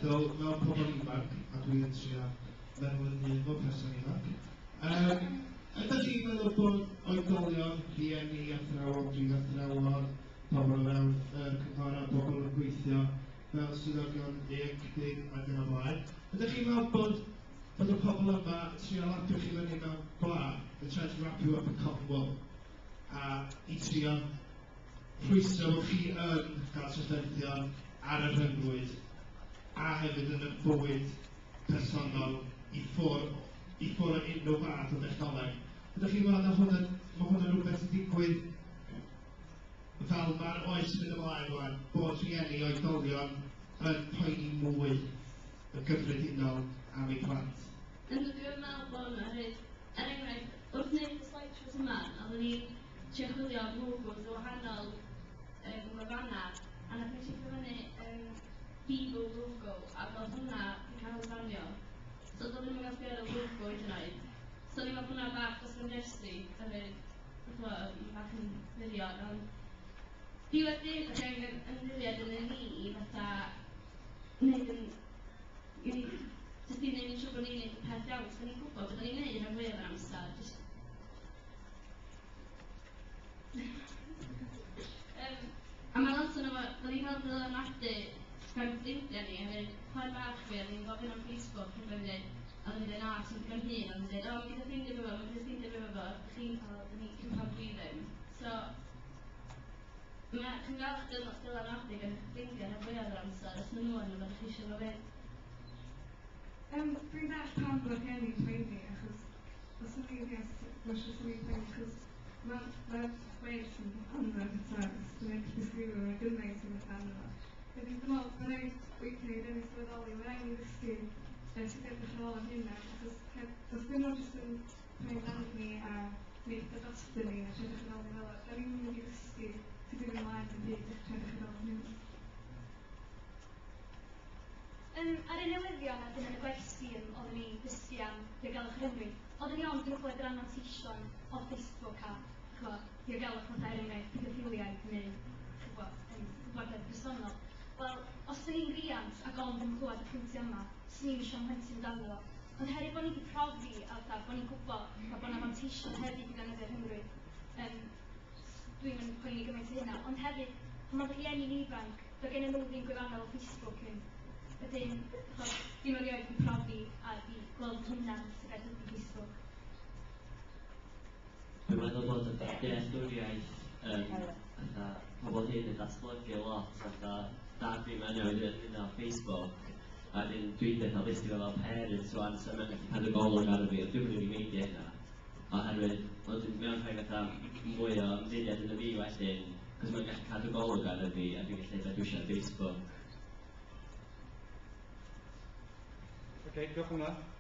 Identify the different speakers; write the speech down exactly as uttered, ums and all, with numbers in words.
Speaker 1: meddwl, fel pobl ifanc, a dwi yn trio meddwl yn hun fel person ifanc, um, ydych chi'n meddwl bod oedolion, rhieni, athrawon, prifathrawon, pobl o fewn yr cynghorau, pobl yn gweithio fel swyddogion ieuenctid ac yn y blaen, ydych chi'n meddwl bod, bod y pobl yma yn trio lapio chi fyny mewn gwlân, they're trying to wrap you up in cotton wool, a i trio rhwystro bod chi yn cael trafferthion ar y rhyngrwyd a hefyd yn y bywyd personol i ffwrdd, i ffwrdd o unrhyw fath o dechnoleg. Ydych chi'n meddwl na hwnna, mae hwnna'n rhywbeth sy'n digwydd fel mae'r oes yn mynd ymlaen rwan, bod rhieni oedolion yn poeni mwy yn gyffredinol am eu plant?
Speaker 2: Yndw, dwi'n meddwl bod yna hefyd. Er enghraifft, wrth wneud y slideshows yma, oeddwn ni'n trio chwilio am logos o wahanol um, wefannau, a nath ni checio fyny um, Bebo logo, ac oedd hwnna yn cael ei banio. So doedd ddim yn gallu ar y logo hyd yn oed. So ni'n meddwl hwnna bach dros ben llestri, hefyd, ch'mo', bach yn wirion, ond diwedd dydd, da chi angen ymddiried yn ni, fatha, wneud yn, i ni, jyst i wneud yn siŵr bod ni'n neud y peth iawn, cos da ni'n gwybod beth da ni'n neud rhan fwyaf o'r amser, jyst um, a mae lot o'n efo, da ni'n cael dylanwadu gan ffrindiau ni, hefyd chwaer bach fi, oedd ni'n gofyn am Facebook, ac oedd hi'n dweud, oedd hi'n dweud, na, sy'n digon hŷn, oedd hi'n dweud, o, mae gyda ffrindiau fi fo, mae gyda ffrindiau fi fo, chi'n cael, da ni, chi'n cael dwi ddim. So, mae, chi'n gael eich dylanwadu gan eich ffrindiau rhan fwyaf o'r amser, os maen nhw yn efo, chi eisiau fo fyd.
Speaker 3: Um, dwi'n deall pam bod rhieni'n poeni, achos os ydyn ni'n rhiant, mae'n siŵr swn i'n poeni, achos mae'r ma wales yn anferth eto, os dwi'n gallu disgrifio, mae gymaint o beth arno fo. Wedyn dwi'n meddwl, mae'n rhaid weithiau i rywun sylweddoli, mae'n rhaid i ni ddysgu uh, sut edrych ar ôl am hynna, achos os dyn nhw jyst yn poeni amdano ni a gwneud pethau drosto ni a trio edrych ar ôl ni fel 'a, da ni'n mynd i ddysgu sut i fynd ymlaen yn byd a trio edrych ar ôl am hynna.
Speaker 4: Um, ar y newyddion a dyn yn y gwersi um, oeddwn ni'n dysgu am diogelwch rhyngrwyd, oeddwn ni ond yn clywed yr anfanteision o Facebook a ch'mo, diogelwch fatha er enghraifft pedoffiliaid neu ch'bo, um, gwybodaeth personol. Wel, os dyn ni'n riant ac ond yn clywed y pwyntiau yma, swn i'n eisiau mhlentyn amdano fo. Ond herwydd bod ni wedi profi a fatha bod ni'n gwybod fatha bod 'na fanteision hefyd i ddefnyddio'r rhyngrwyd, um, dwi'n yn poeni gymaint o hynna. Ond hefyd, pan mae rhieni'n ifanc, doedd gennyn nhw ddim gwefannau fel Facebook yn wedyn, ch'od, dim erioed wedi profi a di gweld hynna'n sut beth ydy Facebook.
Speaker 5: Dwi'n meddwl bod y dealltwriaeth um, fatha, pobl hyn yn datblygu lot, fatha, dad fi mae'n newid yn hynna o Facebook, a wedyn dwi'n dweud, obviously fel parents rwan, so mae'n gallu cadw golwg ar fi, ond dwi'n mynd i meindio hynna. Oherwydd, wedyn mewn rhoi fatha mwy o ymddiried yn y fi wedyn, cos mae'n gallu cadw golwg ar fi, a dwi'n gallu dweud dwi eisiau Facebook.
Speaker 6: Okay, diolch am hwnna.